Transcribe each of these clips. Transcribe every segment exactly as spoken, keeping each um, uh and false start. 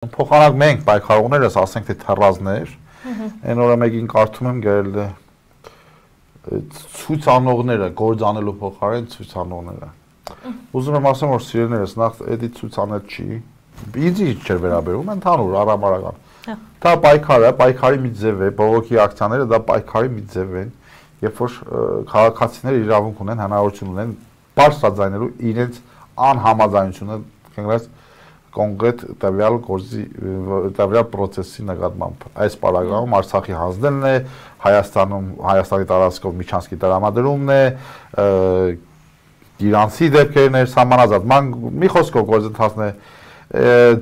Փոխանակ մենք պայքարողներս, ասենք թե թռազներ, այն օրը մեկին կարդում եմ գրել է ցույցանողները, գործ անելու փոխարեն ցույցանողները։ Ուզում եմ ասեմ, որ սիրելիներս, նախ էդի ցույցանել չի, ինձ չէր վերաբերում, ընդհանուր առամարական։ Դա պայքար է, պայքարի մի ձև է, բողոքի ակցիաները դա պայքարի մի ձև են, երբ որ քաղաքացիները իրավունք ունեն, հնարավորություն ունեն բարձրաձայնելու իրենց անհամաձայնությունը, կներես կոնկրետ տվյալ գործի տվյալ process-ի նկատմամբ այս պարագայում Արցախի հանձնելն է, Հայաստանում Հայաստանի տարածքով միջանցքի տրամադրումն է, իրանցի դեպքերն է, սահմանազատման մի խոսքով գործընթացն է,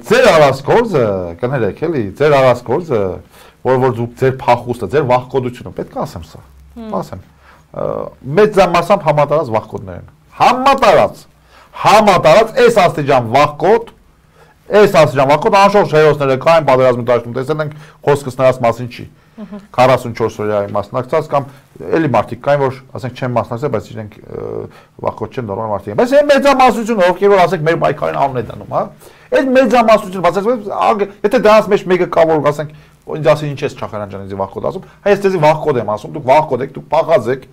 ձեր արած գործը, կներեք էլի, ձեր արած գործը, որ որ դուք ձեր փախուստը, ձեր վախկոդությունը, պետք է ասեմ սա, ասեմ, մեծ մասամբ համատարած վախկոդներ են, համատարած, համատարած այս աստիճան վախկոդ Այս ասիջան վախկոտ անշոշ հերոսները կային պատերազմի դաշտում, տեսել ենք խոսքս նրանց մասին չի, քառասունչորս օրյայի մասնակցած կամ էլի մարդիկ կային, որ ասենք չեն մասնակցել, բայց իրենք վախկոտ չեն, նորմալ մարդիկ են, բայց այն մեծամասնությունը, ովքեր որ ասենք մեր պայքարին անուն է դնում, հա, այդ մեծամասնությունը, բացարձակ, եթե դրանց մեջ մեկը կա, որ ասենք ինձ ասին ինչ ես Չախարյան ջան, ինձ վախկոտ ասում, հայ ես դեզի վախկոտ եմ ասում, դուք վախկոտ եք, դուք փախած եք,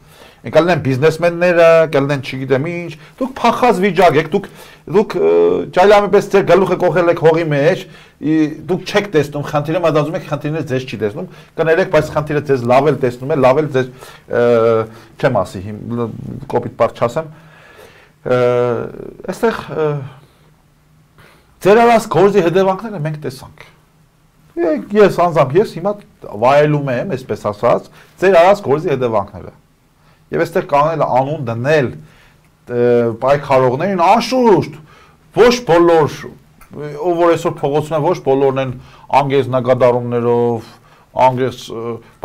կլինեն բիզնեսմենները, կլինեն չգիտեմ ինչ, դուք փախած վիճակ եք, դուք դուք ջայլամի պես ձեր գլուխը կողել եք հողի մեջ, դուք չեք տեսնում խնդիրը, մտածում եք խնդիրները ձեզ չի տեսնում, կներեք, բայց խնդիրը ձեզ լավ էլ տեսնում է, լավ էլ ձեզ չեմ ասի, կոպիտ բառ չասեմ, այստեղ ձեր արած գործի հետևանքները մենք տեսանք։ Ես անձամբ ես հիմա վայելում եմ, այսպես ասած, ձեր արած գործի հետևանքները։ Եվ այստեղ կանել անուն դնել պայքարողներին անշուշտ ոչ բոլոր ով որ այսօր փողոցում են ոչ բոլորն են անգեզ նկատառումներով անգեզ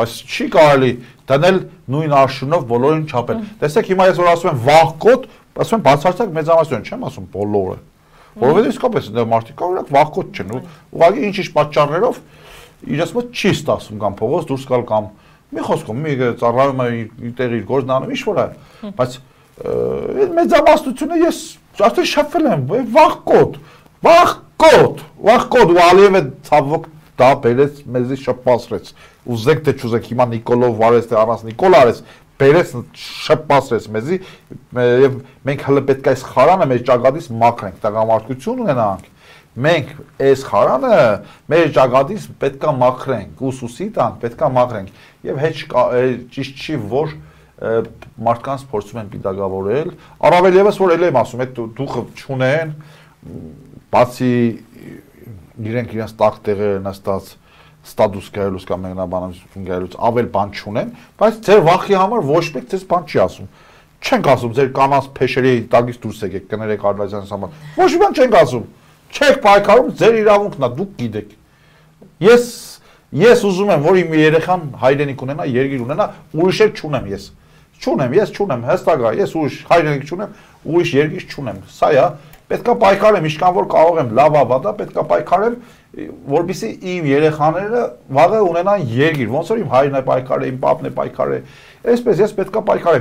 բայց չի կարելի դնել նույն արշունով բոլորին չափել տեսեք հիմա ես որ ասում եմ վախկոտ ասում եմ բացարձակ մեծամասնություն չեմ ասում բոլորը որովհետեւ իսկապես դա մարդիկ օրինակ վախկոտ չեն ուղղակի ինչ-ինչ պատճառներով իրենց մոտ չի ստացվում կամ փողոց դուրս գալ կամ մի խոսքով մի ծառայում է տեղ իր գործն անում ինչ որ է բայց այդ մեծամասնությունը ես արդեն շփվել եմ վախկոտ վախկոտ վախկոտ ու Ալիևը ցավոք դա բերեց մեզի շփպասրեց ուզեք թե չուզեք հիմա Նիկոլով վարեց թե առանց Նիկոլ արեց բերեց շփպասրեց մեզի եւ մենք հələ պետք է այս խարանը մեր ճակատից մաքրենք տղամարդկություն ունենանք մենք այս խարանը մեր ճակատից պետք է մաքրենք ուսուսի տանք պետք է մաքրենք եւ հետ ճիշտ չի որ մարդկանց փորձում են պիտակավորել, առավել ևս որ ել եմ ասում, այդ դուխը չունեն, բացի իրենք իրենց տակ տեղերը նստած ստատուս գայելուց կամ մեկնաբանություն գայելուց ավել բան չունեն, բայց ձեր վախի համար ոչ մեկ ձեզ բան չի ասում։ Չենք ասում ձեր կանանց փեշերի տակից դուրս եկեք, կներեք Ալբազյանից համար։ Ոչ մի բան չենք ասում։ Չեք պայքարում, ձեր իրավունքն է, դուք գիտեք։ Ես ես ուզում եմ, որ իմ երեխան հայրենիք ունենա, երկիր ունենա, ուրիշ էլ չունեմ ես։ Չունեմ, ես չունեմ, հստակ է, ես ուրիշ հայրենիք չունեմ, ուրիշ երկիր չունեմ։ Սա է, պետք է պայքարեմ, ինչքան որ կարող եմ, լավ ավատա, պետք է պայքարեմ, որպեսզի իմ երեխաները վաղը ունենան երկիր, ոնց որ իմ հայրն է պայքարել, իմ պապն է պայքարել, այսպես ես պետք է պայքարեմ։